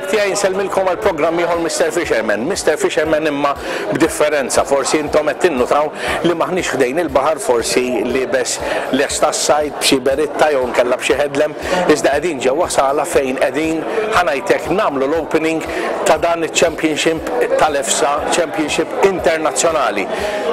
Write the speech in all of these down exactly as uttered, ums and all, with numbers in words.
Ħbieb tiegħi, nsellmilkom għal programm ieħor Mister Fisherman. Mister Fisherman imma b'differenza, forsi intom qed tinnutaw li maħniex ħdejn il-baħar, forsi liebes lest tas-sajd b'xi beritta jew nkella b'xi headlamp, iżda qegħdin ġewwa sala fejn qegħdin, ħa ngħidlek, nagħmlu l-opening ta' dan il-Championship tal-EFSA, Championship Internazzjonali,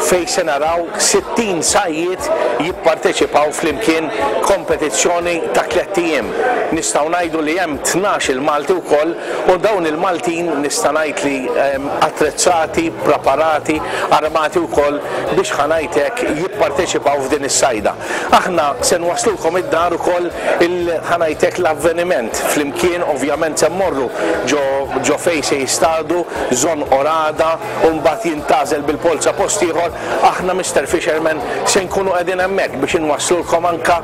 fejn se naraw sittin sajjied jipparteċipaw flimkien kompetizzjoni ta' tlett ijiem. Nistgħu ngħidu li hemm tnax il-Malti wkoll u dawn il-Maltin nista' ngħid li ehm, attrezzati, preparati, armati wkoll biex, ħa ngħidlek, jipparteċipaw f'din is-sajda. Aħna se nwaslulkom id-dar ukoll il ħa ngħidlek l-avveniment flimkien, ovvjament se mmorru ġo ġo fejn se jistadu, Żonqor għada, u mbagħad jintgħażel bil-polza post ieħor. Aħna Mister Fisherman se nkunu qegħdin hemmhekk biex inwasslulkom anka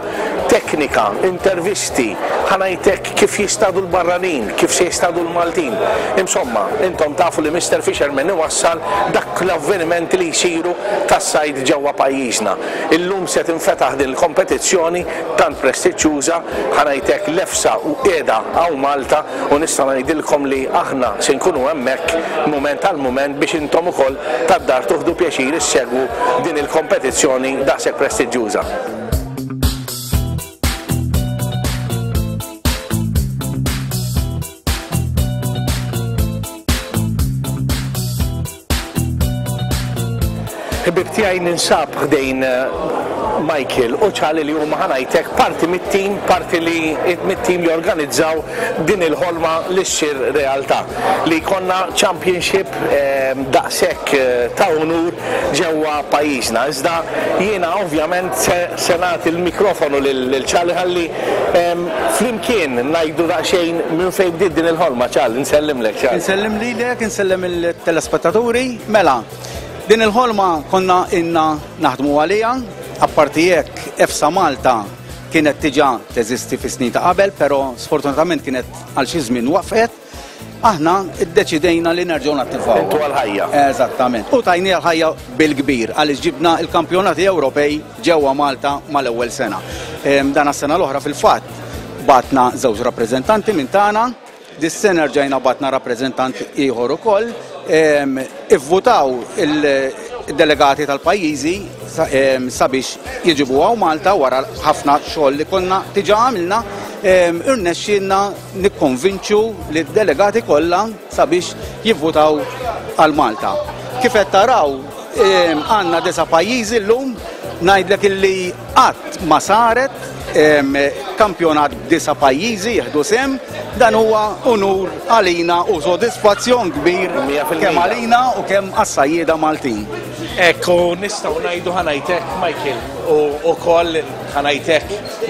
teknika, intervisti, ħa ngħidlek, kif jistadu l-barranin, kif se jistadu l-Maltin. Insomma, intom tafu li Mister Fisherman iwassal dak l-avvenimenti li jsiru tas-sajd ġewwa pajjiżna. Illum se tinfetaħ din il-kompetizzjoni tant prestiġjuża, ħa ngħidlek, l-EFSA u qiegħda hawn Malta u nista' ngħidilkom li aħna se nkunu hemmhekk mument għal mument biex intom ukoll tad-dar tieħdu pjaċir issegwu din il-kompetizzjoni daqshekk prestiġjuża. Ħbieb tiegħi, ninsab ħdejn eh, Michael u Charlie li huma, ħa ngħidlek, parti mit-tim, parti li mit-tim li organizzaw din il-ħolma li ssir realtà. Li jkollna championship eh, daqshekk eh, ta' unur ġewwa pajjiżna. Iżda jiena ovvjament se, se nagħti l-mikrofonu lil lil Charlie ħalli em, flimkien ngħidu daqsxejn minn fejn bdiet din il-ħolma. Charlie, nsellimlek, Charlie. Insellem lilek, insellem il-telespettaturi. Mela, din il-ħolma konna ilna naħdmu għalija, apparti hekk EFSA Malta kienet diġà teżisti fi snin ta' qabel, però sfortunatament kienet għal xi żmien waqfet. Aħna iddeċidejna li nerġgħu nattivaw. Intu għal-ħajja. Eżattament. U tajni għal-ħajja bil-kbir għaliex ġibna il-kampjonati Ewropej ġewwa Malta mal-ewwel sena. Em, Dan sena l-oħra fil-fatt bgħatna żewġ rappreżentanti minn tagħna. Dis-sena rġajna bgħatna rappreżentant ieħor ukoll. Em, Ivvutaw il-delegati tal-pajjiżi sa- em, sabiex jiġibu hawn Malta wara ħafna xogħol li konna diġà għamilna. em, Irnexxielna nikkonvinċu li d-delegati kollha sabiex jivvutaw għal Malta. Kif qed taraw, em, għandna disa' pajjiżi llum, ngħidlek illi qatt ma saret em, kampjonat b'disa' pajjiżi jieħdu sehem, dan huwa unur għalina u sodisfazzjon kbir Mija fil-mija. kemm għalina u kemm għas-sajjieda Maltin. Ekku, nistgħu ngħidu, ħa ngħidlek, Michael, u ukoll, ħa ngħidlek,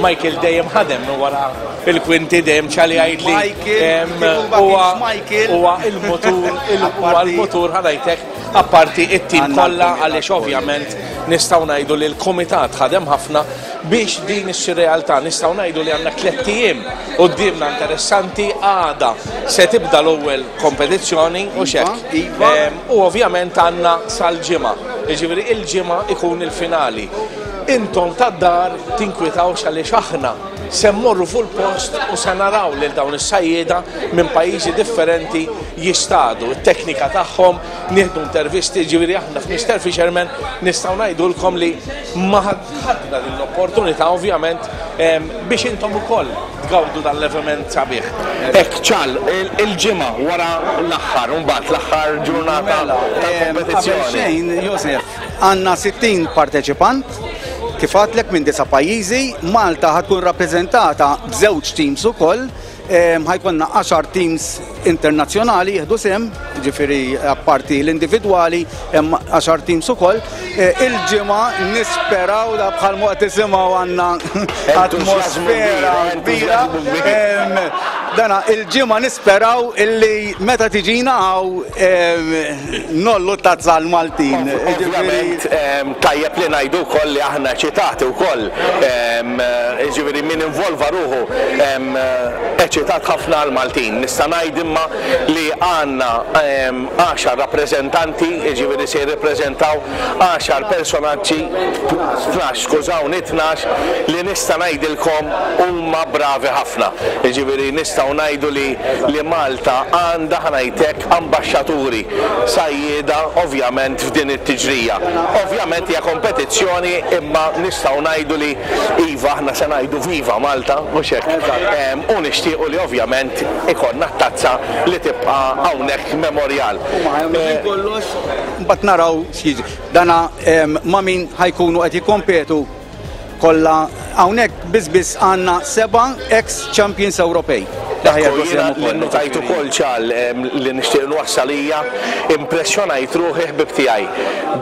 Michael dejjem ħadem minn wara il-kwinti dejjem Charlie jgħidli. Michael, em, kieku ma huwa kienx Michael. Huwa il-motur, il- huwa Apparti- l-motur, ħa ngħidlek, apparti it-tim Għandna kollha l-kumitat għaliex kollu. ovvjament nistgħu ngħidu li l-kumitat ħadem ħafna biex din issir realtà. Nistgħu ngħidu li għandna tlett ijiem quddiemna interessanti. Għada se tibda l-ewwel kompetizzjoni u xek. Iva. Em, U ovvjament għandna sal-ġimgħa. Jiġifieri il-ġimgħa ikun il-finali. Intom tad-dar tinkwitawx għaliex aħna se mmorru fuq il-post u se naraw lil dawn is-sajjieda minn pajjiżi differenti jistadu, it-teknika tagħhom, nieħdu intervisti, ġifieri aħna f'Mister Fisherman nistgħu ngħidulkom li ma ħadna din l-opportunità ovvjament em, biex intom ukoll tgawdu dan l-avveniment sabiħ. Ek ċal, il-ġimgħa wara l-aħħar, mbagħad l-aħħar ġurnata Mela, em, qabel tal-kompetizzjoni. xejn, Josef, għandna sittin parteċipant, kif għedtlek minn disa' pajjiżi, Malta ħa tkun rappreżentata b'żewġ teams ukoll, em, ħa jkollna għaxar teams internazzjonali jieħdu sehem, ġifieri apparti l-individwali, hemm għaxar teams ukoll. Eh, Il-ġimgħa nisperaw da bħal qed tisimgħu għandna atmosfera kbira. Entużjażmu kbir. Em, Dana, il-ġimgħa nisperaw illi meta tiġina hawn ngħollu tazza l-Maltin. Ovvjament, em, tajjeb li ngħidu wkoll li aħna eċitati wkoll, em, ġifieri min involva ruħu em, eċitat ħafna għal-Maltin. Nista' ngħid imma li għandna em, għaxar rappreżentanti, ġifieri se jirrepreżentaw għaxar personaġġi, tnax, skużawni, tnax, li nista' ngħidilkom huma bravi ħafna. Ġifieri nistgħu Nistgħu ngħidu li li Malta għandha, ħa ngħidlek, ambaxxaturi sajjieda ovvjament f'din it-tiġrija. Ovvjament hija kompetizzjoni, imma nistgħu ngħidu li iva, aħna se ngħidu viva Malta, mhux hekk? U nixtiequ li ovvjament ikollna tazza li tibqa' hawnhekk memorial. Kollox mbagħad naraw x'jiġri. Dana ma' min ħa jkunu qed jikkompetu kollha hawnhekk biss biss għandna seba' ex champions Ewropej. Li notajt ukoll ċal li nixtieq nwassal hija impressjonajt ruħi, ħbib tiegħi,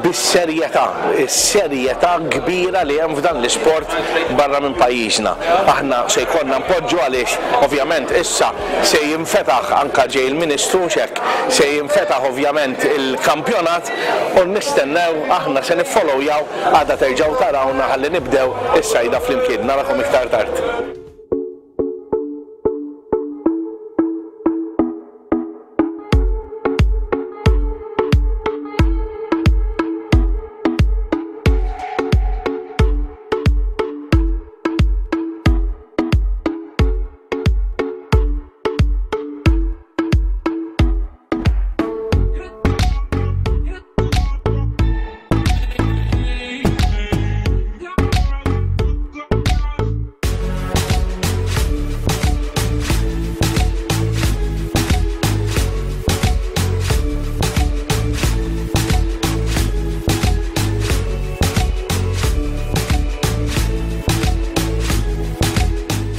bis-serjetà, is-serjetà kbira li hemm f'dan l-isport barra minn pajjiżna. Aħna se jkollna npoġġu għaliex ovvjament issa se jinfetaħ, anka ġej il-Ministru xek, se jinfetaħ ovvjament il-kampjonat u nistennew, aħna se niffollowjaw, għada terġgħu tarawna ħalli nibdew is-sajda flimkien. Narakom iktar tard.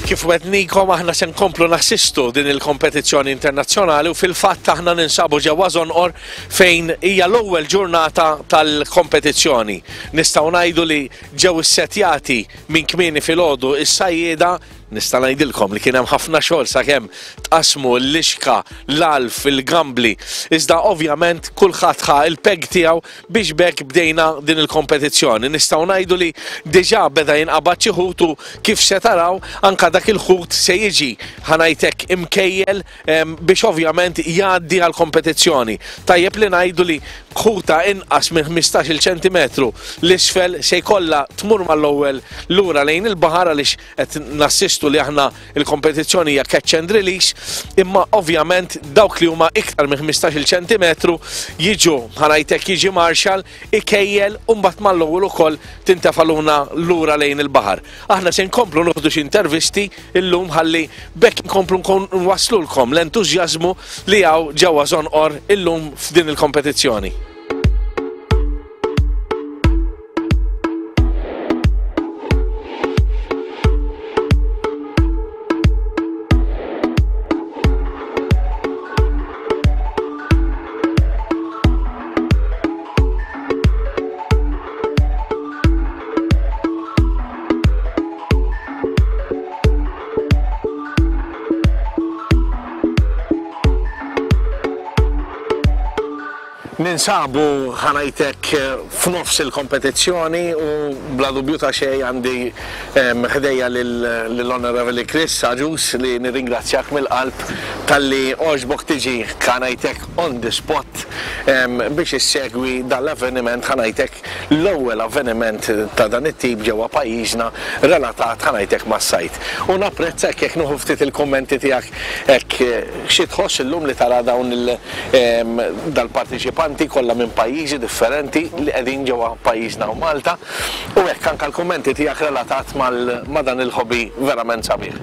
Kif wetnikom, aħna se nkomplu nassistu din il-kompetizzjoni internazzjonali u fil-fatt aħna ninsabu ġewwa Żonqor fejn hija l-ewwel ġurnata tal-kompetizzjoni. Nistgħu ngħidu li ġew issetjati minn kmieni filgħodu is-sajjieda. Nista' ngħidilkom li kien hemm ħafna xogħol sakemm tqasmu l-lixka, l-alf, il-gambli. Iżda ovvjament kulħadd ħa il-peg tiegħu biex bekk bdejna din il-kompetizzjoni. Nistgħu ngħidu li diġà beda jinqabad xi ħut u kif se taraw anka dak il-ħut se jiġi, ħa ngħidlek, imkejjel biex ovvjament jgħaddi għall-kompetizzjoni. Tajjeb li ngħidu li ħuta inqas minn ħmistax-il ċentimetru l-isfel se jkollha tmur mal-ewwel lura lejn il-baħar għaliex qed nassistu li aħna il-kompetizzjoni hija catch and release, imma ovvjament dawk li huma iktar minn ħmistax-il ċentimetru jiġu, ħa ngħidlek, jiġi marshal ikejjel u mbagħad mal-ewwel ukoll tintefaluna lura lejn il-baħar. Aħna se nkomplu noħdu xi intervisti illum ħalli bekk nkomplu nwaslulkom l-entużjażmu li hawn ġewwa Żonqor illum f'din il-kompetizzjoni. Ninsabu, ħa ngħidlek, f'nofs il-kompetizzjoni u bla dubju ta' xejn għandi ħdejja lill-Honorable Chris Agius li nirringrazzjak mill-qalb talli għoġbok tiġi, ħa ngħidlek, on the spot biex issegwi dal-avveniment, ħa ngħidlek, l-ewwel avveniment ta' dan it-tip ġewwa pajjiżna relatat, ħa ngħidlek, mas-sajt. U napprezza jekk nieħu ftit il-kummenti tiegħek hekk xi tħoss illum li tara dawn dal-partiċipanti kollha minn pajjiżi differenti li qegħdin ġewwa pajjiżna u Malta, u hekk anke l-kummenti tiegħek relatat ma' dan il-hobby verament sabiħ.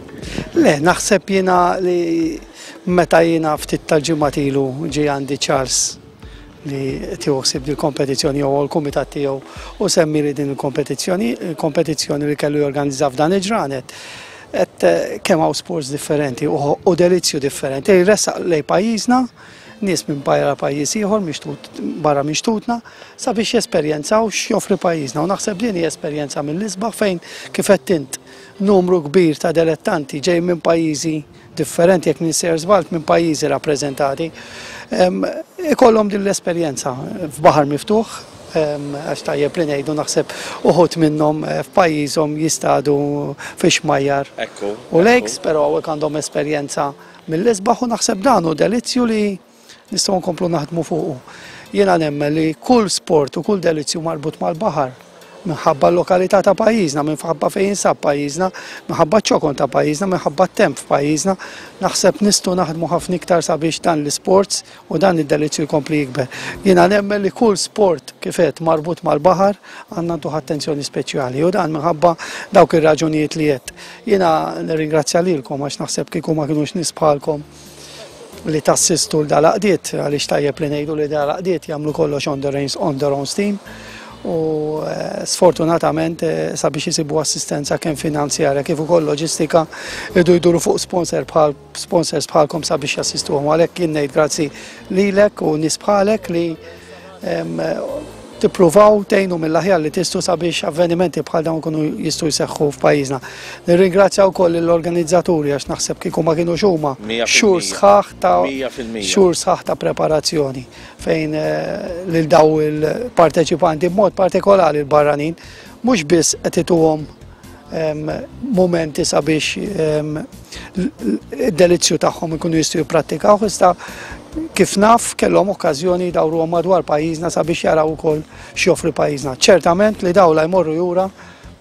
Le, naħseb jiena li meta jiena ftit tal-ġimgħat ilu ġie għandi Charles li tieħu ħsieb dil-kompetizzjoni jew l-kumitat tiegħu u semmi li din il-kompetizzjoni, il-kompetizzjoni li kellu jorganizza f'dan il-ġranet. Et kemm hawn sports differenti u delizzju differenti, jressaq lej pajjiżna nies minn barra pajjiż ieħor barra minn xtutna sabiex jesperjenzaw x'joffri pajjiżna. U naħseb din hija esperjenza mill-isbaħ fejn kif qed int numru kbir ta' dilettanti ġej minn pajjiżi differenti, jekk nisser żball minn pajjiżi rappreżentati, ikollhom din l-esperjenza f'baħar miftuħ, għax tajjeb li ngħidu naħseb uħud minnhom f'pajjiżhom jistadu fi xmajjar u lakes, però hawnhekk għandhom esperjenza mill-isbaħ u naħseb dan hu delizzju li nistgħu nkomplu naħdmu fuqu. Jiena nemmen li kull sport u kull delizzju marbut mal-baħar Minħabba l-lokalità ta' pajjiżna, minħabba fejn jinsab pajjiżna, minħabba ċ-ċokon ta' pajjiżna, minħabba t-temp f'pajjiżna, naħseb nistgħu naħdmu ħafna iktar sabiex dan l-isports u dan id-delizzju jkompli jikber. Jiena nemmen li kull sport kif qed marbut mal-baħar għandna ntuh attenzjoni speċjali u dan minħabba dawk ir-raġunijiet li qed. Jiena nirringrazzja lilkom għax naħseb kieku ma kinux nies bħalkom li tassistu l dal-għaqdiet, għaliex tajjeb li ngħidu li dal-għaqdiet jagħmlu kollox on their on their own steam u sfortunatament sabiex jisibu assistenza kemm finanzjarja kif ukoll loġistika idu jduru fuq sponsor bħal sponsors bħalkom sabiex jassistuhom. Għalhekk jien ngħid grazzi lilek u nies bħalek li tippruvaw tgħinu mill-aħjar li tistgħu sabiex avvenimenti bħal dawn ikunu jistgħu jseħħu f'pajjiżna. Nirringrazzja wkoll l-organizzaturi għax naħseb kieku ma kinux huma xhur sħaħ ta' xhur sħaħ ta' preparazzjoni fejn lil daw il-parteċipanti b'mod partikolari l-barranin mhux biss qed ituhom momenti sabiex id-delizzju tagħhom ikunu jistgħu jipprattikaw, iżda kif naf kellhom okkażjoni jdawruhom madwar pajjiżna sabiex jaraw ukoll x'joffri pajjiżna. Ċertament li dawn la jmorru jura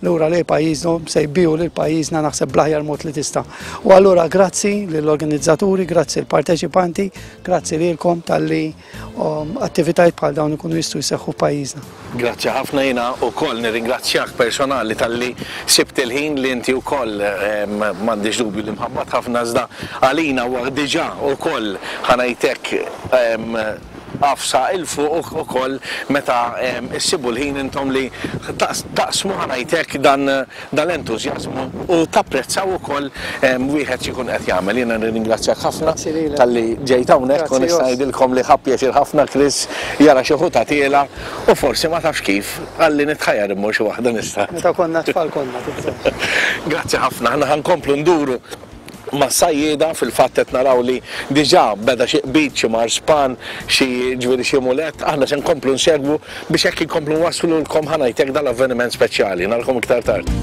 lura lejn pajjiżhom se jbiju lil pajjiżna naħseb bl-aħjar mod li tista'. U allura grazzi lill-organizzaturi, grazzi l-parteċipanti, grazzi lilkom talli attivitajiet bħal dawn ikunu jistgħu jseħħu f'pajjiżna. Grazzi ħafna, jiena wkoll nirringrazzjak personali talli sibt il-ħin li inti wkoll m'għandix dubju li mħabbat ħafna iżda għalina huwa diġà wkoll ħa ngħidlek għafsa il fuq ukoll meta issibu l-ħin intom li taqsmu ħa ngħidlek dan l-entużjażmu u tapprezzaw ukoll wieħed x'ikun qed jagħmel. Jiena nirringrazzjak ħafna talli ġejt hawnhekk u nista' ngħidilkom li ħa pjaċir ħafna Chris jara xi ħuta tiela u forsi ma tafx kif għalli nitħajjar immur xi waħda nista'. Meta konna tfal konna tibża'. Grazzi ħafna, aħna ħa nkomplu nduru ma' sajjieda, fil-fatt qed naraw li diġà beda xi qbid, xi marspan, xi ġifieri xi mulet, aħna se nkomplu nsegwu biex hekk inkomplu nwasslulkom ħa ngħidlek dal-avveniment speċjali. Narakom iktar tard.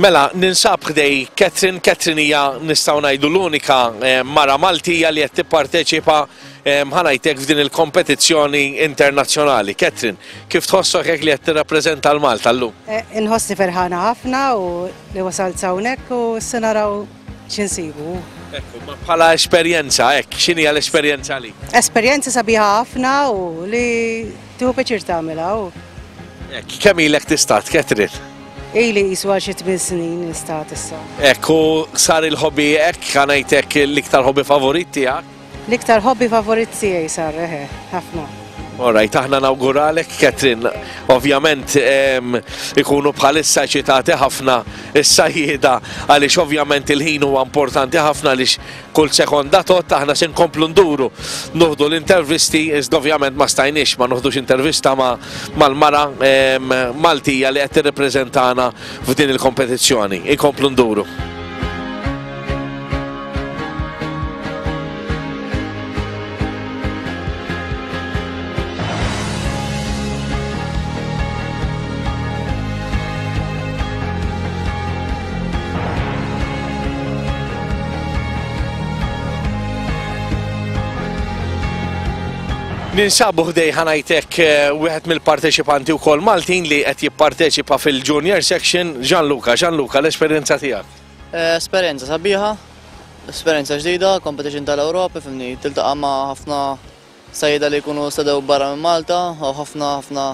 Mela, ninsab ħdej Catherine. Catherine hija nistgħu ngħidu l-unika mara Maltija li qed tipparteċipa ħa ngħidlek f'din il-kompetizzjoni internazzjonali. Catherine, kif tħossok hekk li qed tirrappreżenta l-Malta llum? Inħossni ferħana ħafna u li wasalt hawnhekk u se naraw x'insibu. Ekku, ma bħala esperjenza hekk, x'inhi l-esperjenza għalik? Esperjenza sabiħa ħafna u li tieħu pjaċir tagħmilha. Hekk, kemm ilek tistad, Catherine? Ili jiswa xi tmien snin nistat issa. Ekku, sar il-hobby hekk, ħa ngħidlek l-iktar hobby favorit tiegħek? L-iktar hobby favorit tiegħi sar, eħe, ħafna. Alright, aħna nawguralek, Catherine. Ovvjament ikunu bħalissa eċitati ħafna is-sajjieda għaliex ovvjament il-ħin huwa importanti ħafna għaliex kull sekonda tot aħna se nkomplu nduru noħdu l-intervisti, iżda ovvjament ma stajniex ma noħdux intervista mal-mara Maltija li qed tirrepreżentana f'din il-kompetizzjoni. Ikomplu nduru. Ninsabu ħdej ħa ngħidlek wieħed mill-parteċipanti wkoll Maltin li qed jipparteċipa fil-Junior Section, Gianluca. Gianluca, l-esperjenza tiegħek? Esperjenza sabiħa, esperjenza ġdida, competition tal-Ewropa, fimni, tiltaqa' ma' ħafna sajjieda li jkunu stadew barra minn Malta u ħafna ħafna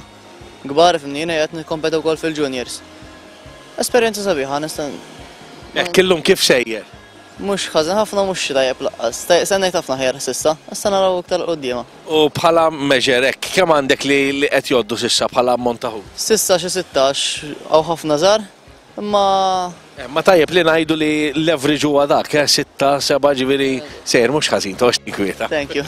kbar, fimni, jiena qed nikkompetu wkoll fil-Juniors. Esperjenza sabiħa, nista' Hekk illum kif sejjer? Mhux ħażin ħafna, mhux tajjeb laqqas. Stennejt ħafna ħjar s'issa, issa naraw iktar quddiema. U bħala measure hekk, kemm għandek li qed jgħoddu s'issa bħala ammont ta' ħut? S'issa xi sittax, hawn ħafna żgħar, Imma Ma tajjeb li ngħidu li l-average huwa dak, eh, sitta, seba' ġifieri sejr mhux ħażin, toqgħodx tinkwieta. Thank you.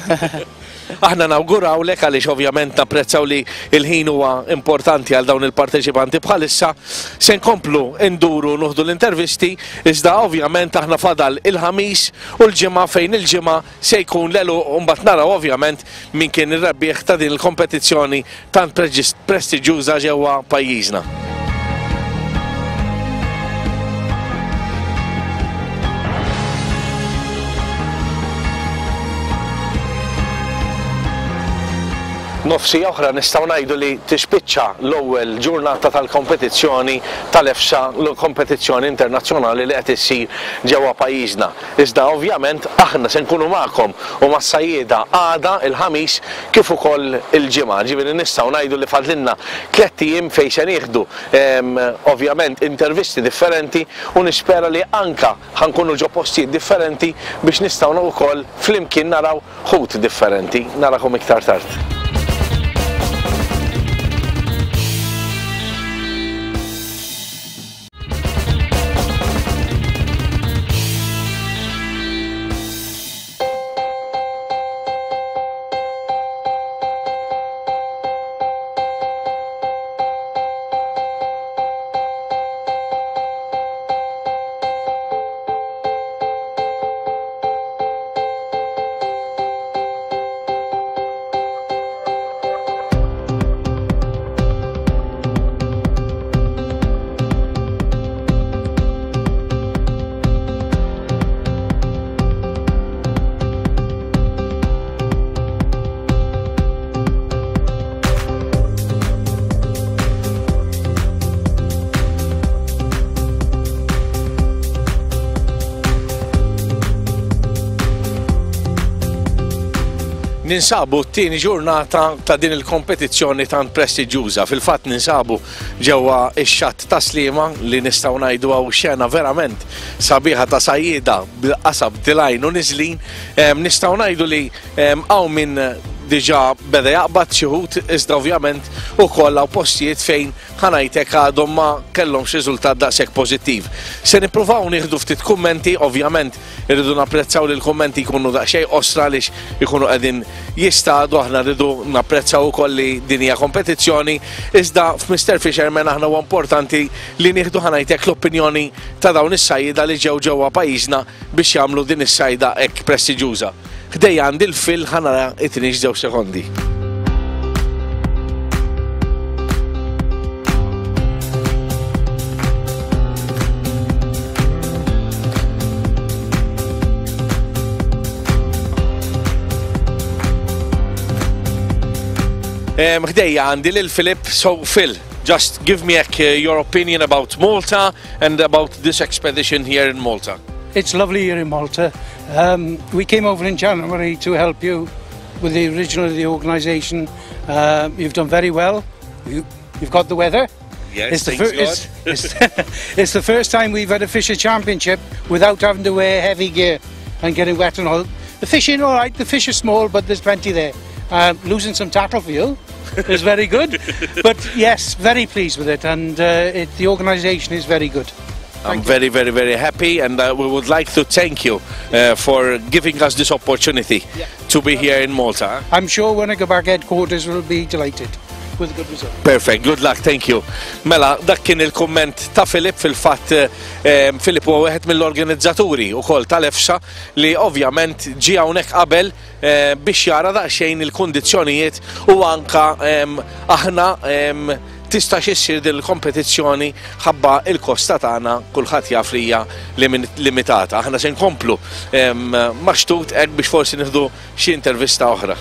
Aħna nawgurawlek għaliex ovvjament napprezzaw li il-ħin huwa importanti għal dawn il-parteċipanti bħalissa. Se nkomplu nduru nuħdu l-intervisti, iżda ovvjament aħna fadal il-ħamis u l-ġimgħa fejn il-ġimgħa se jkun l-għeluq u mbagħad naraw ovvjament min kien ir-rebbieħ ta' din il-kompetizzjoni tant prestiġjuża ġewwa pajjiżna. Nofsi oħra nistgħu ngħidu li tispiċċa l-ewwel ġurnata tal-kompetizzjoni tal-EFSA, l-kompetizzjoni internazzjonali li qed issir ġewwa pajjiżna. Iżda ovvjament aħna se nkunu magħkom u mas-sajjieda għada il-ħamis kif ukoll il-ġimgħa. Ġifieri nistgħu ngħidu li fadlilna tliet ijiem fejn se nieħdu ovvjament intervisti differenti u nispera li anka ħankunu ġo postijiet differenti biex nistgħu wkoll flimkien naraw ħut differenti. Narakom iktar tard. Ninsabu t-tieni ġurnata ta' din il-kompetizzjoni tant prestiġjuża. Fil-fatt ninsabu ġewwa ix-xatt ta' Sliema li nistgħu ngħidu hawn xena verament sabiħa ta' sajjieda bil-qasab tilajn u niżlin. Nistgħu ngħidu li hawn min diġà beda jaqbad xi ħut, iżda ovvjament ukoll hawn postijiet fejn ħanajtek għadhom ma kellhomx riżultat daqshekk pożittiv. Se nippruvaw nieħdu ftit kummenti, ovvjament irridu napprezzaw li l-kummenti jkunu daqsxejn qosra għaliex ikunu qegħdin jistadu, aħna rridu napprezzaw ukoll li din hija kompetizzjoni, iżda f'Mister Fisherman aħna huwa importanti li nieħdu ħanajtek l-opinjoni ta' dawn is-sajjieda li ġew ġewwa pajjiżna biex jagħmlu din is-sajda hekk prestiġjuża. Ħdejja għandi l-fil ħanara it-tniex żewġ sekondi. Ħdejja għandi lil Philip. So Phil, just give me a, your opinion about Malta and about this expedition here in Malta. It's lovely here in Malta. Um, we came over in January to help you with the original of the organisation. Uh, you've done very well. You, you've got the weather. Yes, it's the, thanks God. it's, it's, it's the first time we've had a fisher championship without having to wear heavy gear and getting wet and all. The fishing, all right, the fish are small, but there's plenty there. Uh, losing some tackle for you is very good. But yes, very pleased with it, and uh, it, the organisation is very good. I'm very, very, very happy, and uh, we would like to thank you uh, for giving us this opportunity yeah. to be here in Malta. I'm sure when I go back, headquarters will be delighted with a good result. Perfect, good luck, thank you. Mela, dak kien il-komment ta' Filip. Fil-fatt eh, Filip huwa wieħed mill-organizzaturi wkoll tal-EFSA li ovvjament ġie hawnhekk qabel eh, biex jara daqsxejn il-kundizzjonijiet u anka eh, aħna eh, tistax issir din il-kompetizzjoni ħabba il-kosta tagħna kulħadd jaf li hija limitata. Aħna se nkomplu maxtut hekk biex forsi nieħdu xi intervista oħra.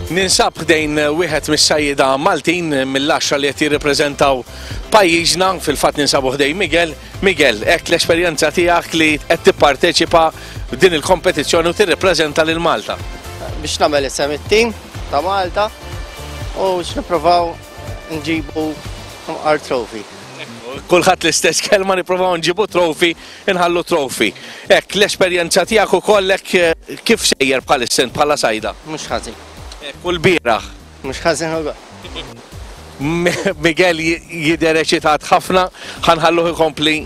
Ninsab ħdejn wieħed mis-sajjieda Maltin mill-għaxra li qed jirrepreżentaw pajjiżna, fil-fatt ninsabu ħdejn Miguel. Miguel, hekk l-esperjenza tiegħek li qed tipparteċipa f'din il-kompetizzjoni u tirrepreżenta lil Malta. Biex nagħmel isem it-tim ta' Malta U nippruvaw nġibu our trophy. Kulħadd l-istess kelma, nippruvaw nġibu trophy, inħallu trophy. Hekk, l-esperjenza tiegħek ukoll hekk, kif sejjer bħalissa bħala sajda? Mhux ħażin. Hekk, u l-bieraħ? Mhux ħażin ukoll. Miguel jidher eċitat ħafna, ħa nħalluh ikompli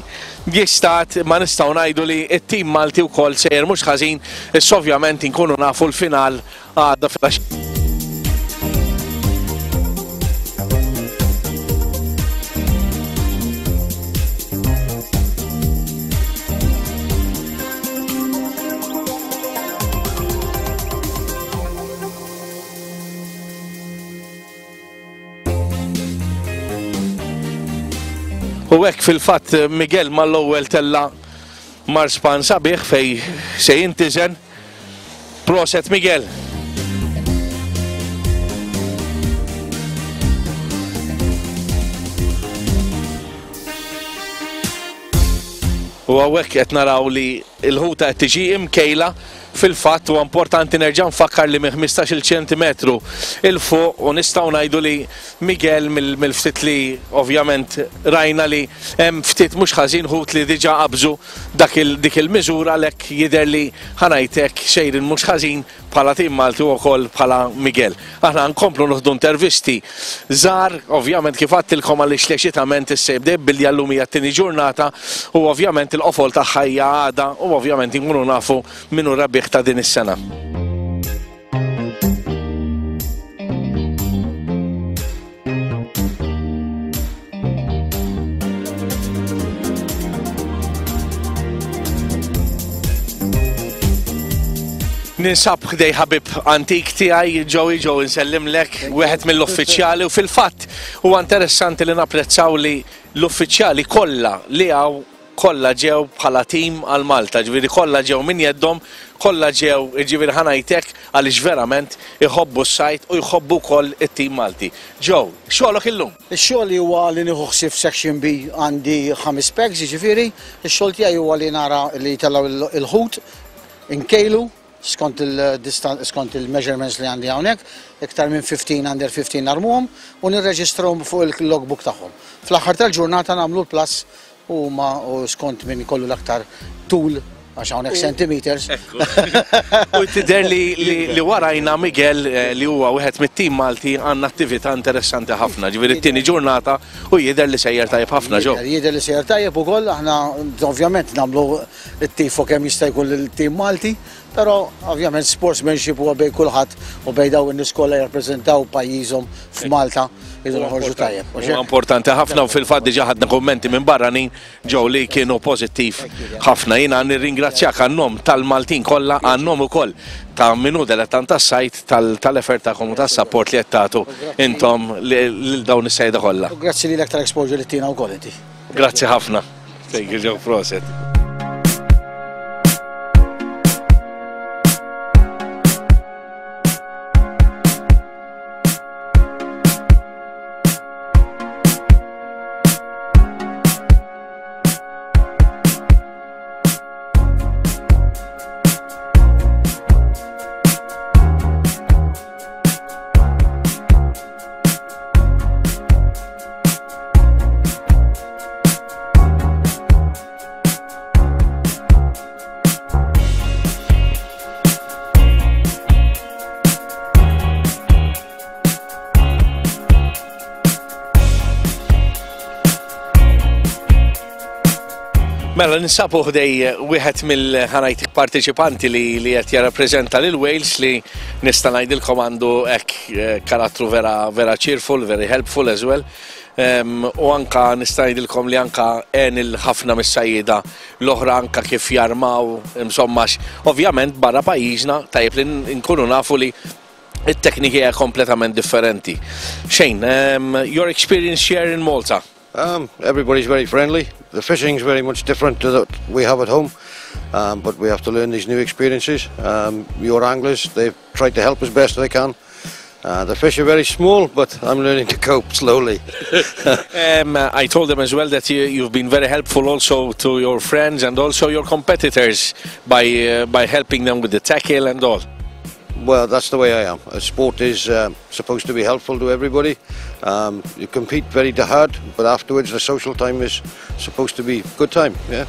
jistad, ma nistgħu ngħidu li t-tim Malti wkoll sejjer mhux ħażin, issa ovvjament inkunu nafu l-final għadha fil-għax. U hekk fil-fatt Miguel mal-ewwel tella marspan sabiħ fej se jintiżen. Proset Miguel. U hawnhekk qed naraw li l-ħuta qed tiġi imkejla. Fil-fatt huwa importanti nerġa' nfakkar li minn ħmistax-il ċentimetru il fuq, u nistgħu ngħidu li Miguel mill-ftit li ovvjament rajna li hemm ftit mhux ħażin ħut li diġà qabżu dak dik il-miżura, għalhekk jidher li ħanajtek xejrin mhux ħażin bħala tim Malti u wkoll bħala Miguel. Aħna nkomplu nieħdu intervisti żgħar, ovvjament kif għadtilkom għaliex l-eċitament issa jibda billi llum hija t-tieni ġurnata u ovvjament il-qofol tagħha hija għada u ovvjament inkunu nafu min hu rebbieħ ta' din is-sena. Ninsab ħdej ħabib antik tiegħi, Joey. Joey, nsellimlek, wieħed mill-uffiċjali, u fil-fatt huwa interessanti li napprezzaw li l-uffiċjali kollha li hawn kollha ġew bħala tim għal Malta, ġifieri kollha ġew minn jeddhom, kollha ġew, ġifieri ħa ngħidlek għaliex verament iħobbu s-sajt u jħobbu wkoll it-tim Malti. Joe, xogħlok illum? Ix-xogħol huwa li nieħu ħsieb section B, għandi ħames pegs, ġifieri, ix-xogħol tiegħi huwa li nara li jtellgħu il-ħut, inkejlu skont il-distan-, skont il-measurements li għandi hawnhekk, iktar minn fifteen, under fifteen narmuhom u nirreġistrahom fuq il-logbook tagħhom. Fl-aħħar tal-ġurnata nagħmlu l-plus u ma u skont min ikollu l-aktar tul, għax hawnhekk centimeters. Ekku. U tidher li, li, li warajna Miguel, eh, li huwa wieħed mit-tim Malti, għandna attività interessanti ħafna. Ġifieri t-tieni ġurnata u jidher li sejjer tajjeb ħafna, ġew. Jidher li sejjer tajjeb ukoll, aħna ovvjament nagħmlu t-tifo kemm jista' jkun lill-tim Malti, però ovvjament sportsmanship huwa bejn kulħadd u bejn dawn in-nies kollha jirrappreżentaw pajjiżhom f'Malta, jridu noħorġu tajjeb. Huwa importanti ħafna u fil-fatt diġà ħadna kummenti minn barranin ġew li kienu pożittiv ħafna. Jiena nirringrazzjak għan-nom tal-Maltin kollha, għan-nom ukoll ta' min hu dilettant tas-sajt, tal-effort tagħkom u tas-sapport li qed tagħtu intom lil dawn is-sajda kollha. U grazzi lilek tal-exposure li tina wkoll inti. Grazzi ħafna. Thank you, Joe. Proset. Mela, ninsabu ħdej wieħed mill-ħanajt partiċipanti li, li qed jirrappreżenta lil Wales, li nista' ngħidilkom għandu hekk, eh, karattru vera, vera cheerful, very helpful as well. Em, u anka nista' ngħidilkom li anka għen il-ħafna mis-sajjieda l-oħra anka kif jarmaw, insomma, ovvjament barra pajjiżna tajjeb li nkunu nafu li it-tekniki hija kompletament differenti. Shane, um, your experience here in Malta? Um, everybody's very friendly. The fishing's very much different to that we have at home, um, but we have to learn these new experiences. Um, your anglers, they've tried to help as best they can. Uh, the fish are very small, but I'm learning to cope slowly. um, I told them as well that you, you've been very helpful also to your friends and also your competitors by, uh, by helping them with the tackle and all. Well, that's the way I am. A sport is uh, supposed to be helpful to everybody. Um, you compete very hard, but afterwards the social time is supposed to be good time, yeah.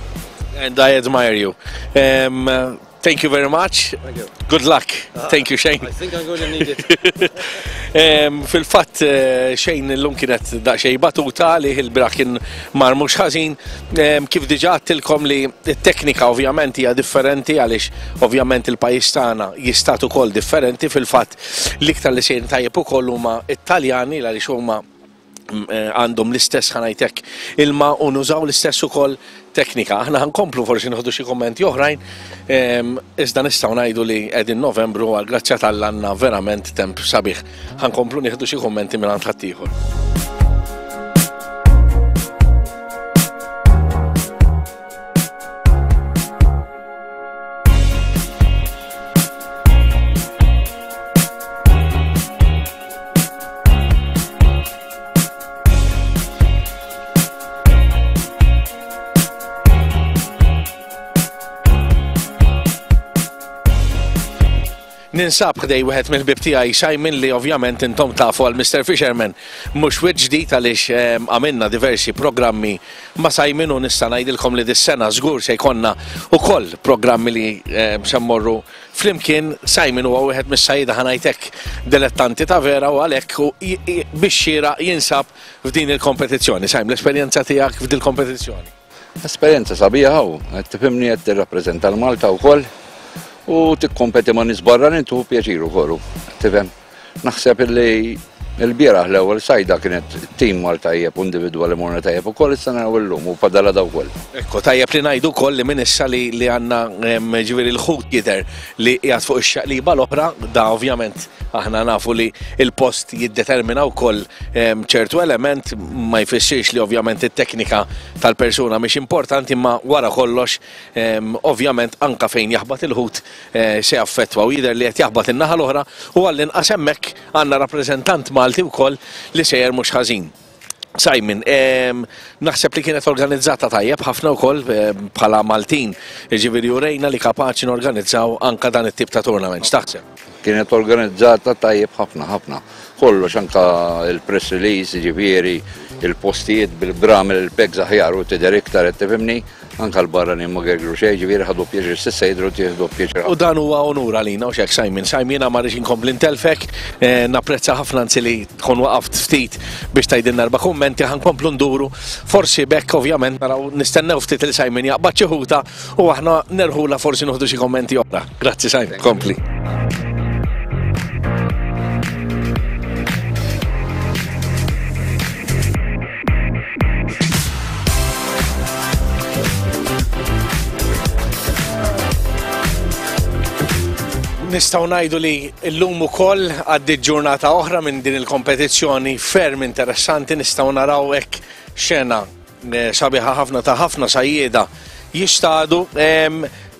And I admire you. Um, uh, thank you very much. Thank you. Good luck. Uh, thank you, Shane. I think I'm going to need it. um, Fil-fatt, uh, Shane illum kienet daqsxejn batuta li il-bieraħ kien mar mhux ħażin. Um, kif diġà għedtilkom li t-teknika ovvjament hija differenti għaliex ovvjament il-pajjiż tagħna jistad ukoll differenti. Fil-fatt l-iktar li sejrin tajjeb ukoll huma Italjani għaliex huma għandhom l-istess ħa ngħidlek ilma u nużaw l-istess ukoll teknika. Aħna ħa nkomplu forsi nieħdu xi kummenti oħrajn, iżda nistgħu ngħidu li qegħdin Novembru għal grazzja t'Alla għandna verament temp sabiħ. Ħa nkomplu nieħdu xi kummenti minn ħaddieħor. Ninsab ħdej wieħed mill-ħbieb tiegħi Simon li ovvjament intom tafu għal Mister Fisherman. Mhux wiċċ ġdid għaliex għamilna diversi programmi ma' Simon u nista' ngħidilkom li dis-sena żgur se jkollna ukoll programmi li se mmorru flimkien. Simon huwa wieħed mis-sajjieda ħa ngħidlek dilettanti ta' vera u għalhekk biex xieraq jinsab f'din il-kompetizzjoni. Simon, l-esperjenza tiegħek f'din il-kompetizzjoni? Esperjenza sabiħa hawn, qed tifhimni qed tirrappreżenta l-Malta wkoll. U tikkompeti ma' nies barranin tieħu pjaċir ukoll, tifhem. Naħseb illi l-bieraħ l-ewwel sajda kienet tim mar tajjeb u individwali morna tajjeb ukoll, issa naraw illum u fadala daw ukoll. Ekku, tajjeb li ngħidu wkoll li minn issa li għandna ġifieri l-ħut jidher li qiegħed fuq ix-xaqliba l-oħra, da ovvjament aħna nafu li l-post jiddetermina wkoll ċertu element, ma jfissirx li ovvjament it-teknika tal-persuna mhix importanti, imma wara kollox ovvjament anka fejn jaħbat il-ħut se jaffettwa u jidher li qed jaħbat in-naħa l-oħra u għall-inqas hemmhekk għandna rappreżentant Malti wkoll li sejjer mhux ħażin. Simon, naħseb li kienet organizzata tajjeb ħafna wkoll bħala Maltin, jiġifieri urejna li kapaċi norganizzaw anka dan it-tip ta' tournament. X'taħseb? Kienet organizzata tajjeb ħafna ħafna. Kollox anka il-press release, jiġifieri il-postijiet bil-bramel, il-pegs aħjar u tidher iktar qed tifhimni, anka l-barranin ma gergru xejn, jiġifieri ħadu pjaċir s'issa jidhru tieħdu pjaċir. U dan huwa onur għalina u x'hekk Simon. Simon, jiena ma rridx inkompli ntelfek, napprezza ħafna anzi li tkun waqaft ftit biex tgħidilna erba' kummenti, ħa nkomplu nduru. Forsi bekk ovvjament naraw nistennew ftit il Simon jaqbad xi ħuta u aħna nerħula forsi nieħdu xi kummenti oħra. Grazzi Simon, kompli. Nistgħu ngħidu li llum ukoll għaddiet ġurnata oħra minn din il-kompetizzjoni ferm interessanti, nistgħu naraw hekk xena sabiħa ħafna ta' ħafna sajjieda jistadu.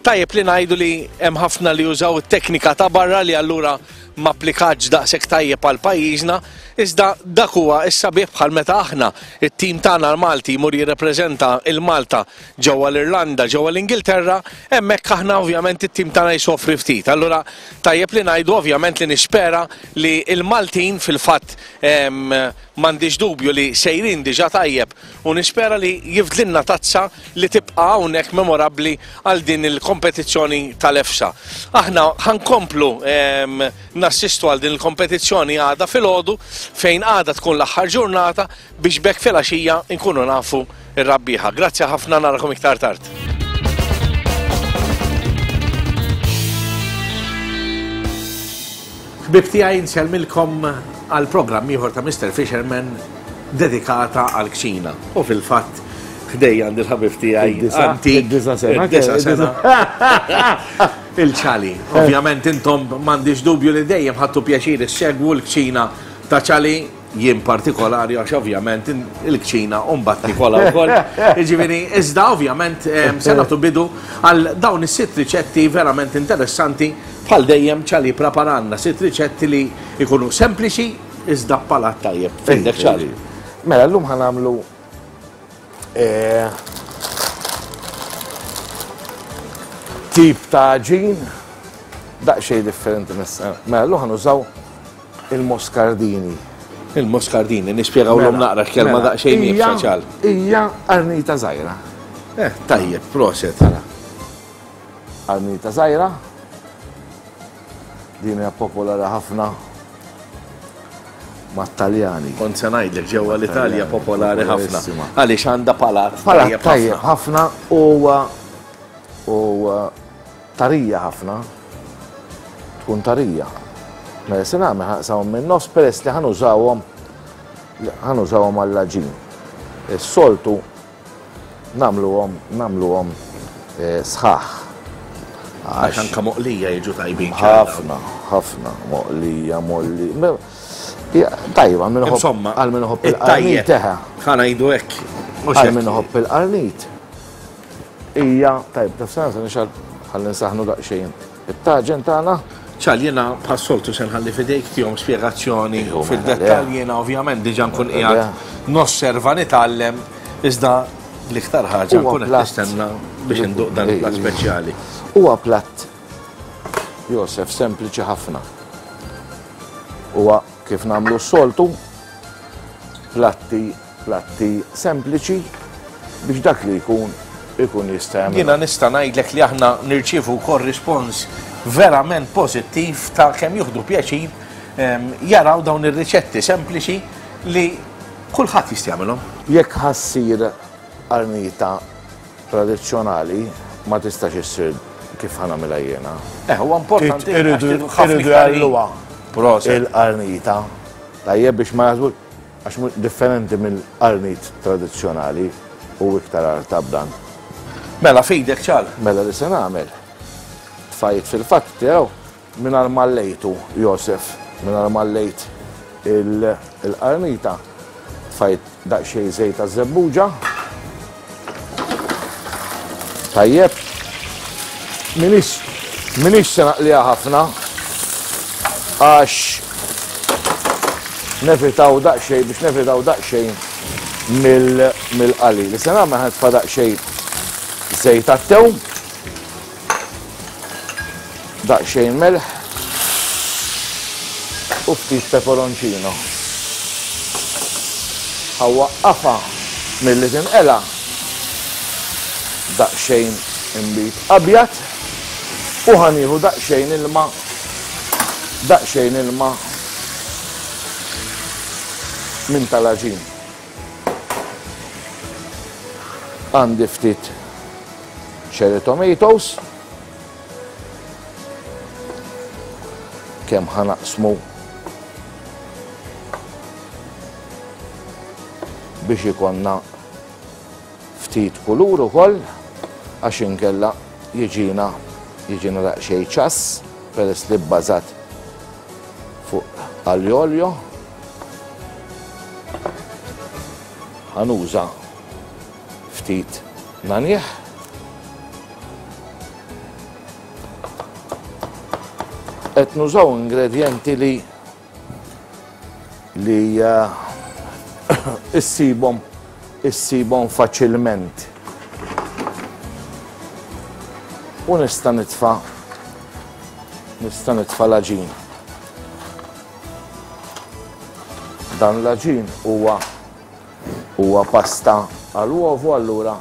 Tajjeb li ngħidu li hemm ħafna li jużaw it-teknika ta' barra li allura ma applikatx daqshekk tajjeb għal pajjiżna, iżda dak huwa s-sabiħ bħal meta aħna it-tim tagħna l-Malti jmur jirrepreżenta l-Malta ġewwa l-Irlanda, ġewwa l-Ingilterra, hemmhekk aħna ovvjament it-tim tagħna jsofri ftit. Allura tajjeb li ngħidu ovvjament li nispera li l-Maltin fil-fatt m'għandix dubju li sejrin diġà tajjeb u nispera li jifdlilna tazza li tibqa' hawnhekk memorabbli għal din il-kompetizzjoni tal-EFSA. Aħna ħa nkomplu nassistu għal din il-kompetizzjoni għada filgħodu fejn għada tkun l-aħħar ġurnata biex bekk filgħaxija nkunu nafu r-rabbieħa. Grazzi ħafna, narakom iktar tard. Ħbieb tiegħi, nsellmilkom għal programm ieħor ta' Mister Fisherman dedikata għal kċina. U fil-fatt ħdejja għandi l-ħabib tiegħi antik, id-disa' sena. id-disa' sena. Il-ċali. Ovvjament intom m'għandix dubju li dejjem ħadtu pjaċir issegwu l-kċina ta' ċali, jien partikolari għax ovvjament il-kċina u mbagħad nikola wkoll. Jiġifieri iżda ovvjament se nagħtu bidu għal dawn is-sitt riċetti verament interessanti bħal dejjem ċali preparanna sitt riċetti li jkunu sempliċi iżda palat tajjeb. Findek ċali. Mela llum ħa nagħmlu tip ta' għaġin Daqsxejn differenti mis-sena. Mela llum ħa nużaw il-moscardini. Il-moscardini, nispjegawlhom naqra kelma daqsxejn iebsa ċal. Hija qarnita żgħira. Eh, tajjeb, proset. Qarnita żgħira. Din hija popolari ħafna mat-Taljani. Kont se ngħidlek ġewwa l-Italja popolari ħafna. Għaliex għandha palat Palat tajjeb ħafna u u tarija ħafna. Tkun tarija. Mela se nagħmel ħa naqsamhom minn nofs peress li ħa nużawhom ħa nużawhom għall-għaġin. Is-soltu nagħmluhom nagħmluhom sħaħ. Għax anka moqlija jiġu tajbin. Ħafna, ħafna moqlija, molli. Tajba, għal min iħobb il-qarnit teħa. Ħa ngħidu hekk. Għal min iħobb il-qarnit. Ija, tajb, taf sena se nixgħal ħalli nsaħnu daqsxejn. It-taġen tagħna. Ċal, jiena bħas-soltu se nħalli f'idejk tihom spjegazzjoni fid-dettall, jiena ovvjament diġà nkun qiegħed nosserva nitgħallem, iżda l-iktar ħaġa nkun qed nistenna biex induq dan il-platt speċjali. Huwa platt, Josef, sempliċi ħafna. Huwa kif nagħmlu s-soltu, platti, platti sempliċi biex dak li jkun ikun jista' jagħmel. Jiena nista' ngħidlek li aħna nirċievu wkoll rispons verament pożittiv ta' kemm jieħdu pjaċir jaraw dawn ir-riċetti sempliċi li kulħadd jista' jagħmilhom. Jekk ħassir qarnita tradizzjonali ma tistax issir kif ħa nagħmilha jiena. Eh, huwa importanti iridu jgħalluha il-qarnita. Tajjeb biex ma jaħsbux għax differenti mill-qarnit tradizzjonali u iktar artab dan. Mela fidek ċal. Mela li se nagħmel. Tfajt fil-fatt tiegħu mingħajr ma llejtu Josef, mingħajr ma llejt il-qarnita. Tfajt daqsxejn żejt taż-żebbuġa. Tajjeb. Minix minix se naqliha ħafna għax nevitaw daqsxejn biex nevitaw daqsxejn mill-qali. Li se nagħmel ħa nitfa' daqsxejn żejt tat-tewm, daqsxejn melħ u ftit peperoncino. Ħa waqqafha milli tinqela daqsxejn inbid abjad u ħa nieħu daqsxejn ilma daqsxejn ilma minn tal-għaġin. Għandi ftit cherry tomatoes, kemm ħa naqsmu biex ikonna ftit kulur ukoll, għax inkella jiġina jiġina daqsxejn ċass peress li bbażat fuq aglio. Ħa nuża ftit nanieh. Qed nużaw ingredjenti li li issibhom issibhom faċilment. U nista' nitfa' nista' nitfa' l-għaġin. Dan l-għaġin huwa huwa pasta għall-uovo, allura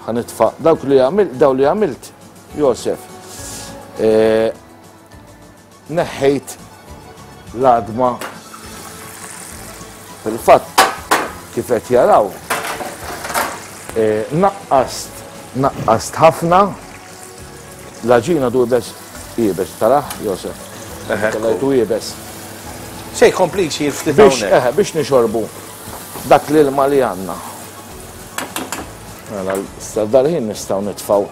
ħa nitfa' dawk li għamilt, daw li għamilt, Josef. Neħħejt l-għadma fil-fatt kif qed jaraw. Naqqast, naqqast ħafna. L-għaġina du ibes, ibes, taraħ, Josef? Tellajtu ibes. Se jkompli jsir ftit Biex, hawnhekk. eħe, biex nixorbu dak l-ilma li għandna. Mela, issa dal-ħin nistgħu nitfgħu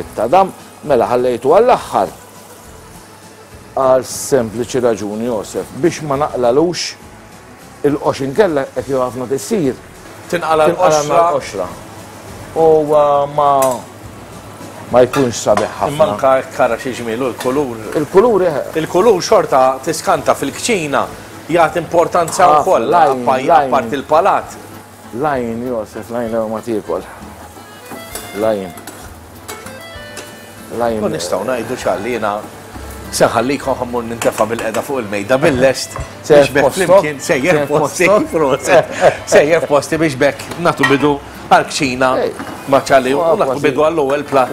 it-tadam, mela ħallejtu għall-aħħar. Għal sempliċi raġuni, Josef, biex ma naqlalux il-qox inkella qed jew ħafna tissir. Tinqala Tinqala l-qoxra. l-qoxra. U ma ma jkunx sabiħ ħafna. Imma anka kara xi ġmielu l-kulur. Il-kulur, eħe. Il-kulur xorta tiskanta fil-kċina jagħti importanza Ħafna, wkoll, lajn, appa- lajn. apparti il-palat. Lajn, Josef, lajn lew ma tiekol. Lajn. Lajn. U nistgħu ngħidu ċalli jiena Se nħallikom ħa mmur nintefa' bil-qeda fuq il-mejda bil-lest biex b'hekk flimkien sejjer posti, sejjer posti biex b'hekk nagħtu bidu għall-kċina ma' Ċali u nagħtu bidu għall-ewwel platt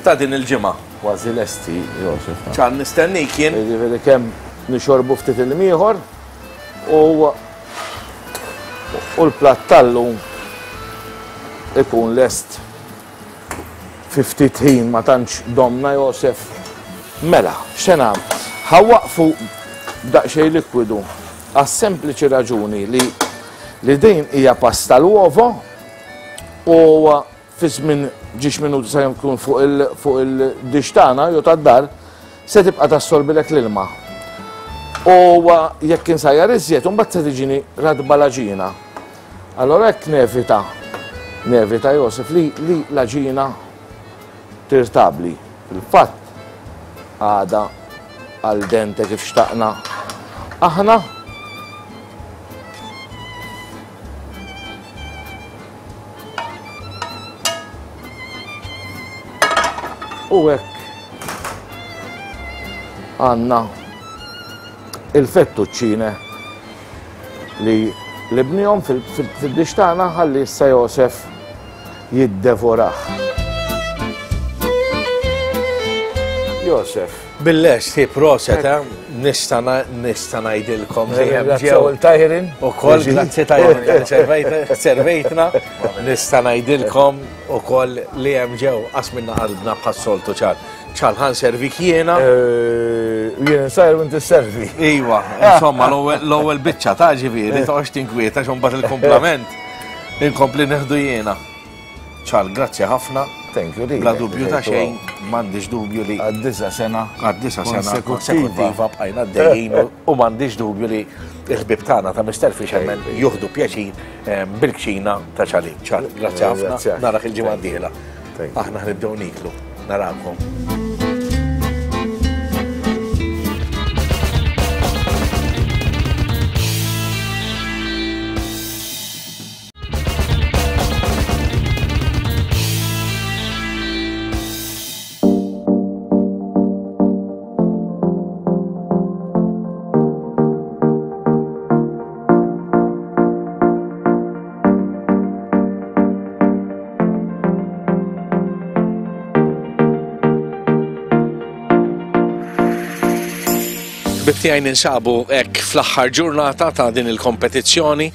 ta' din il-ġimgħa. Kważi lesti, Josef. Ċal nistennik jien. Jiġifieri kemm nixorbu ftit il-ieħor u u l-platt tal-lum ikun lest fi ftit ħin, ma tantx domna, Josef. Mela, x'se nagħmel? Ħa waqfu daqsxejn likwidu għas-sempliċi raġuni li li din hija pasta l-uovo u fi żmien ġiex minuti sa jkun fuq il fuq il-dix tagħna jew tad-dar se tibqa' tassorbilek l-ilma. U jekk insajjar iżjed, imbagħad se tiġini radba l-għaġina. Allora hekk nevita, nevita Josef li li l-għaġina tirtabli. Fil-fatt għada għal dente kif xtaqna aħna. U hekk għandna il-fettuccine li libnihom fil-dix tagħna ħalli issa Josef jiddevorah. Josef. Bil-lest, hi proset, eh? Nista' nista' ngħidilkom li hemm ġew il-Tajrin. Ukoll grazzi Tajrin servejtna. Nista' ngħidilkom ukoll li hemm ġew qasminna qalbna bħas-soltu ċar. Ċar ħa nservik jiena. Jien nsajr u inti sservi. Iva, insomma l-ewwel biċċa ta' ġifieri toqgħodx tinkwieta x'hu mbagħad il-kumplament inkompli neħdu jiena. Ċar, grazzi ħafna. Thank you, Bla dubju ta' xejn, m'għandix dubju li għad-disa sena għad-disa sena konsekutiva bqajna għaddejjin u m'għandix dubju li l-ħbieb tagħna ta' Mister Fisherman juħdu pjaċir bil-kċina ta' Ċali. Ċar, grazzi ħafna, narak il-ġimgħa d-dieħla. Aħna ħnibdew niklu, narakom. Bibtijaj ninsabu hekk fl-aħħar ġurnata ta' din il-kompetizzjoni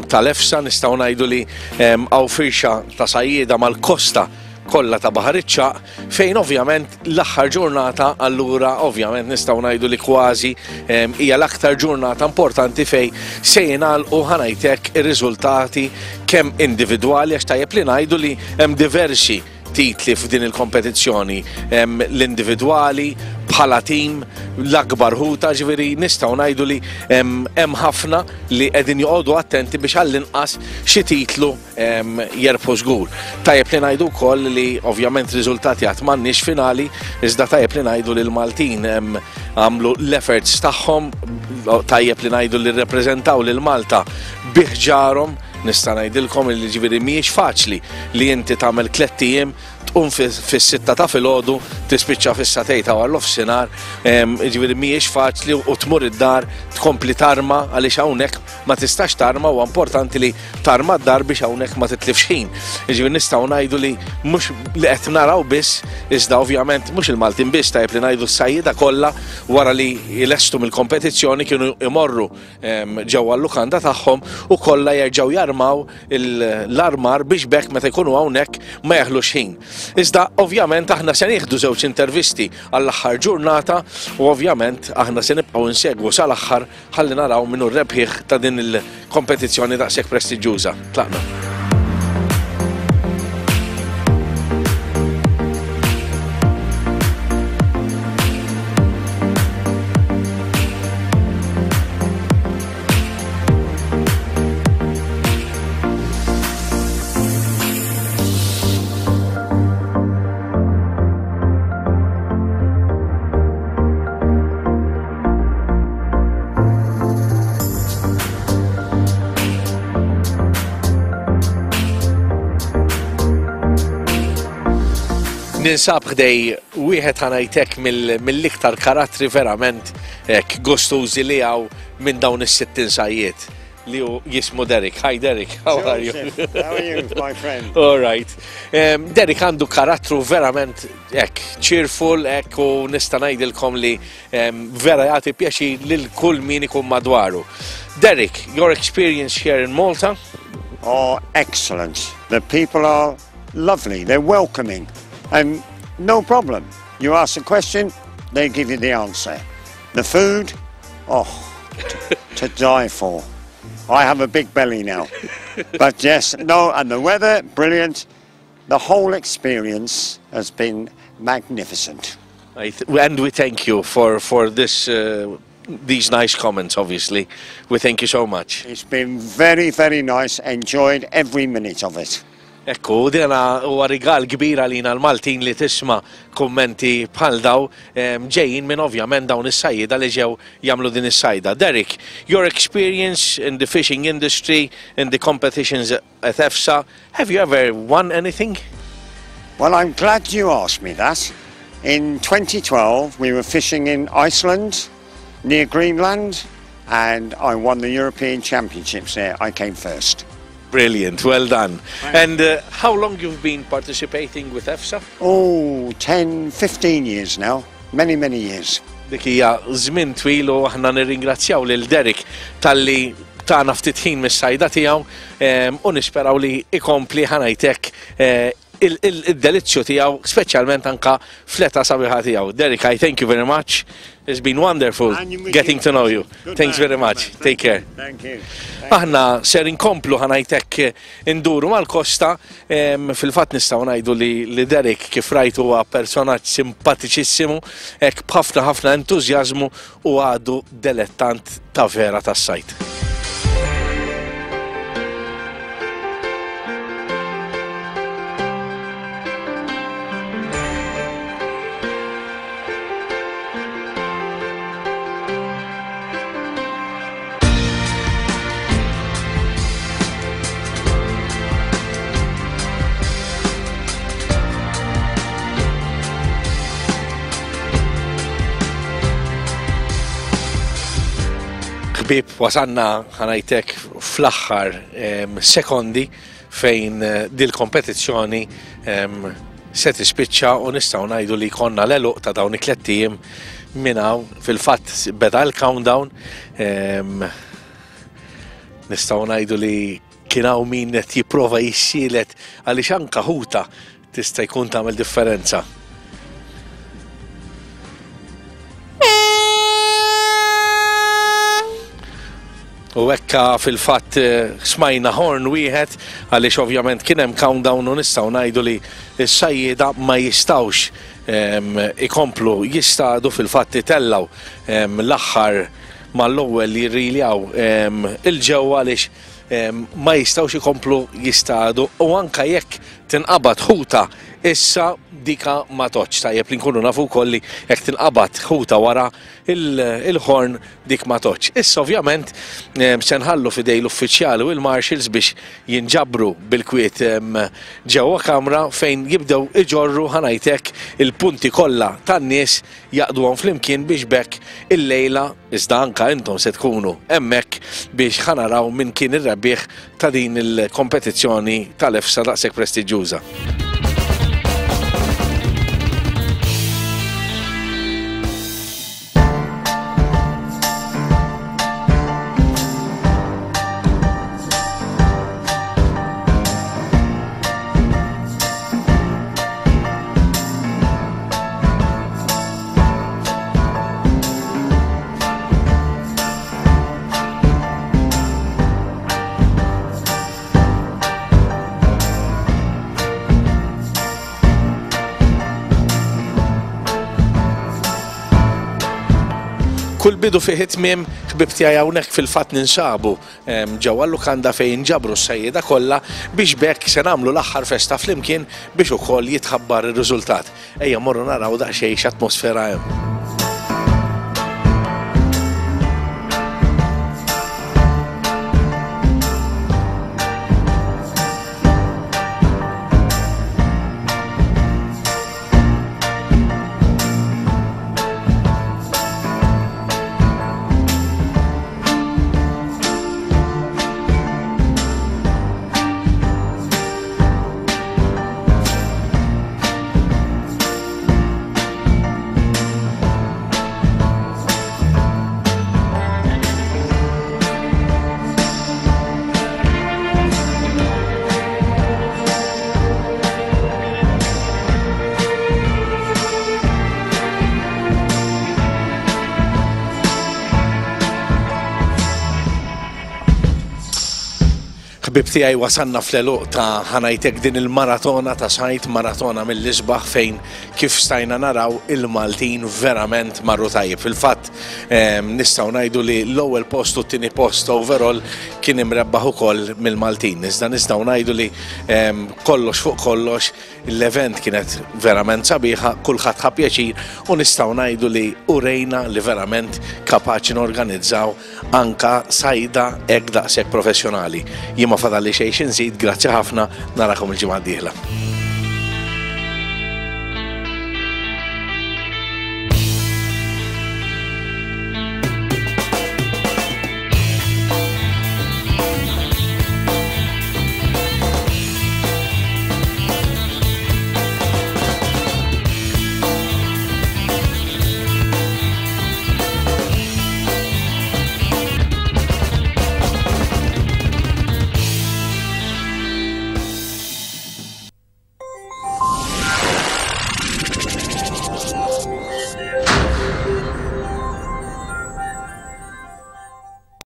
tal-EFSA, nistgħu ngħidu li hawn firxa ta' sajjieda mal-kosta kollha ta' Baħar iċ-Ċagħaq, fejn ovvjament l-aħħar ġurnata allura ovvjament nistgħu ngħidu li kważi hija l-aktar ġurnata importanti fejn se jingħalqu ħanajtek ir-riżultati kemm individwali, għax tajjeb li ngħidu li hemm diversi titli f'din il-kompetizzjoni, l-individwali, bħala tim, l-akbar ħuta, ġifieri nistgħu ngħidu li hemm ħafna li qegħdin joqogħdu attenti biex għall-inqas xi titlu jerbħu żgur. Tajjeb li ngħidu wkoll li ovvjament riżultati għad m'għandniex finali, iżda tajjeb li ngħidu li l-Maltin għamlu l-efforts tagħhom, tajjeb li ngħidu li rrepreżentaw lil Malta bi ħġarhom. Nista' ngħidilkom li ġifieri mhijiex faċli li inti tagħmel tliet ijiem, tqum fis-sitta ta' filgħodu, tispiċċa fis-satej ta' wara nofsinhar, ġifieri mhijiex faċli u tmur id-dar tkompli tarma għaliex hawnhekk ma tistax tarma, huwa importanti li tarma d-dar biex hawnhekk ma titlifx ħin. Ġifieri nistgħu ngħidu li mhux li qed naraw biss, iżda ovvjament mhux il-Maltin biss, tajjeb li ngħidu s-sajjieda kollha wara li jlestu mill-kompetizzjoni kienu imorru ġewwa l-lukanda tagħhom u kollha jerġgħu jarmaw l-armar biex bekk meta jkunu hawnhekk ma jaħlux ħin. Iżda ovvjament aħna se nieħdu żewġ intervisti għall-aħħar ġurnata u ovvjament aħna se nibqgħu nsegwu sal-aħħar ħalli naraw min hu r-rebħieħ ta' din il-kompetizzjoni daqshekk prestiġjuża. Tlaqna. Ninsab ħdej wieħed, ħa ngħidlek, mill-iktar karattri verament hekk gustużi li hawn minn dawn is-sittin sajjied li hu jismu Derek. Hi Derek, how are you? Joseph, how are you, my friend? All right. Um, Derek għandu karattru verament hekk, cheerful, hekk, u nista' ngħidilkom li um, vera jagħti pjaċir lil kull min ikun madwaru. Derek, your experience here in Malta? Oh, excellent. The people are lovely. They're welcoming. And no problem. You ask a question, they give you the answer. The food, oh, to, to die for. I have a big belly now. But yes, no, and the weather, brilliant. The whole experience has been magnificent. I th- and we thank you for, for this, uh, these nice comments, obviously. We thank you so much. It's been very, very nice. Enjoyed every minute of it. Ekku, dina huwa rigal kbir għalina l-Maltin li tisma' kummenti bħal dawn em, ġejjin minn ovvjament dawn is-sajjida li ġew jagħmlu din is-sajda. Derek, your experience in the fishing industry, in the competitions at E F S A, have you ever won anything? Well, I'm glad you asked me that. In twenty twelve, we were fishing in Iceland, near Greenland, and I won the European Championships there. I came first. Brilliant, well done. And uh, how long you've been participating with E F S A? Oh, ten, fifteen years now. Many, many years. Dik hija żmien twil u aħna nirringrazzjaw lil Derek talli tana ftit ħin mis-sajda tiegħu em, u nisperaw li ikompli, ħa ngħidlek, eh, il-delizzju tiegħu, speċjalment anka fl-età sabiħa tiegħu. Derek, I thank you very much. It's been wonderful And with getting you. To know you. Good Thanks man, very good much. Man. Take care. Thank you. Aħna ser inkomplu, ħa ngħidlek, induru mal-kosta, em, fil-fatt nistgħu ngħidu li, li Derek, kif rajtu, huwa personaġġ simpatiċissimu, hekk b'ħafna ħafna entużjażmu u għadu delettant ta' vera tas-sajd. Ħbieb, wasanna, ħa ngħidlek, fl-aħħar em, sekondi fejn eh, dil-kompetizzjoni em, se tispiċċa u nistgħu ngħidu li konna l-għeluq ta' dawn it-tlett ijiem minn hawn. Fil-fatt beda l-countdown, em, nistgħu ngħidu li kien hawn min qed jipprova jissielet għaliex anka ħuta tista' jkun tagħmel differenza. U hekka fil-fatt eh, smajna horn wieħed għaliex ovvjament kien hemm countdown u nistgħu ngħidu li s-sajjieda ma jistgħux em, ikomplu jistadu. Fil-fatt itellaw em, l-aħħar mal-ewwel li jirriljaw em, il-ġewwa għaliex em, ma jistgħux ikomplu jistadu u anka jekk tinqabad ħuta issa dika ma tgħoddx. Tajjeb li nkunu nafu wkoll li jekk tinqabad ħuta wara il-horn, dik ma tgħoddx. Issa ovvjament em, se nħallu f'idejn l-uffiċjali u l-marshals biex jinġabru bil-kwiet em, ġewwa kamra fejn jibdew iġorru, ħa ngħidlek, il-punti kollha tan-nies, jgħaqqduhom flimkien biex b'hekk illejla, iżda anka intom se tkunu hemmhekk biex ħa naraw min kien ir-rebbieħ ta' din il-kompetizzjoni tal-E F S A daqshekk prestiġjuża. Kull bidu fih tmiem, ħbieb tiegħi. Hawnhekk fil-fatt ninsabu em, ġewwa l-lukanda fejn ġabru s-sajjieda kollha biex b'hekk se nagħmlu l-aħħar festa flimkien biex ukoll jitħabbar ir-riżultat. Ejja morru naraw daqsxejn x'atmosfera hemm. Ħbib tiegħi, wasalna fl-għeluq ta', ħa ngħidlek, din il-maratona ta' sajd, maratona mill-isbaħ fejn kif stajna naraw il-Maltin verament marru tajjeb. Fil-fatt nistgħu ngħidu li l-ewwel post u t-tieni post overall kien imrebbaħ ukoll mill-Maltin. Iżda nistgħu ngħidu li kollox fuq kollox l-event kienet verament sabiħa, kulħadd ħa pjaċir u nistgħu ngħidu li urejna li verament kapaċi norganizzaw anka sajda hekk daqshekk professjonali. Jien ma fadalli xejn x'inżid, grazzi ħafna, narakom il-ġimgħa d-dieħla.